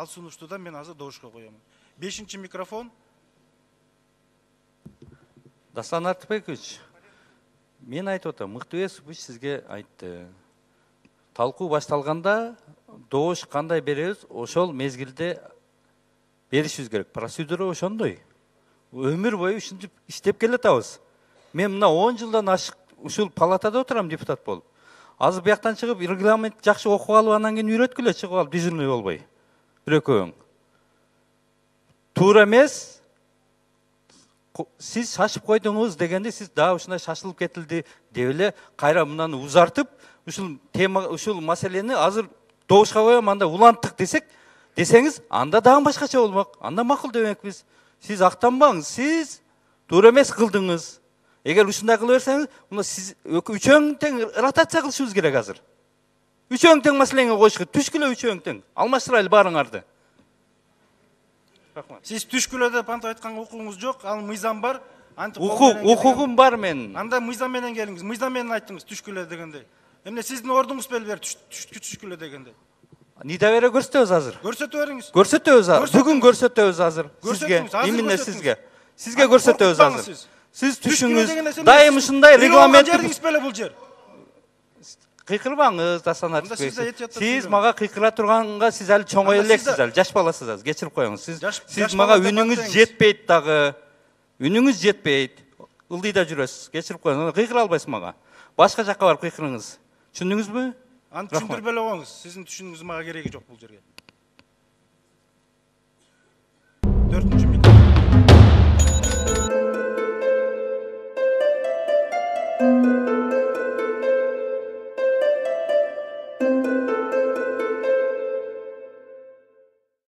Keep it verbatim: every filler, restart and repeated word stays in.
Ал сунуштуудан мен азыр добушка коёмун. Бешинчи микрофон. Даслан Артыбекович, мен айтып атам, Мыктыбесович сизге айтты. Талкуу башталганда добуш кандай беребиз, ошол мезгилде беришибиз керек. Процедура ошондой. Өмүр бою ушинтип иштеп келатабыз. Мен мына он жылдан ашык ушул палатада отурам депутат болуп. Азыр бияктан чыгып регламент жакшы окуп алып, анан кийин үйрөткүлө чыгып алып дежурный болбой. Бир экөөң. Туура эмес. Сиз шашып койдуңуз дегенде сиз дагы ушундай шашылып кетилди деп эле кайра мынаны узартып, ушул тема ушул маселени азыр добушка коем, анда уланттык десек, десеңиз, анда дагы башкача болмок. Анда макул демекпиз. Сиз актанбаңыз, сиз туура эмес кылдыңыз. Эгер ушундай кыла берсеңиз, мына сиз үчөөң тең ротация кылышыбыз керек азыр. Үчөөң тең маселеңе коюшка, түшкүлө үчөөң тең. Алмаштырайлы баарыңарды. Сиз түшкүлө деп антип айтканга укугуңуз жок, ал мыйзам бар. Укук, укугум бар менин. Анда мыйзам менен келиңиз. Мыйзам менен айттыңыз түшкүлө дегенде. Эмне сиздин ордуңуз беле бер түшкүлө дегенде. Нида бере көрсөтөбүз азыр. Көрсөтө бериңиз. Көрсөтөбүз азыр. Бүгүн көрсөтөбүз азыр. Сизге, именно сизге. Сизге көрсөтөбүз азыр. Сиз түшүңүз дайым ушундай регламент жериңиз беле бул жер. Кыйкырбаңыз, Даслан Артыбекович. Сиз мага кыйкыра турганга сиз али чоңой элексиз, али жаш баласыз азыр, кечирип коюңуз. Сиз сиз мага үнүңүз жетпейт дагы. Үнүңүз жетпейт. Ылдыйда жүрөсүз, кечирип коюңуз. Кыйкыра албайсыз мага. Башка жакка барып кыйкырыңыз. Түшүндүңүзбү? Аны түшүндүрбөй эле коюңуз. Сиздин түшүнүүңүз мага кереги жок бул жерге.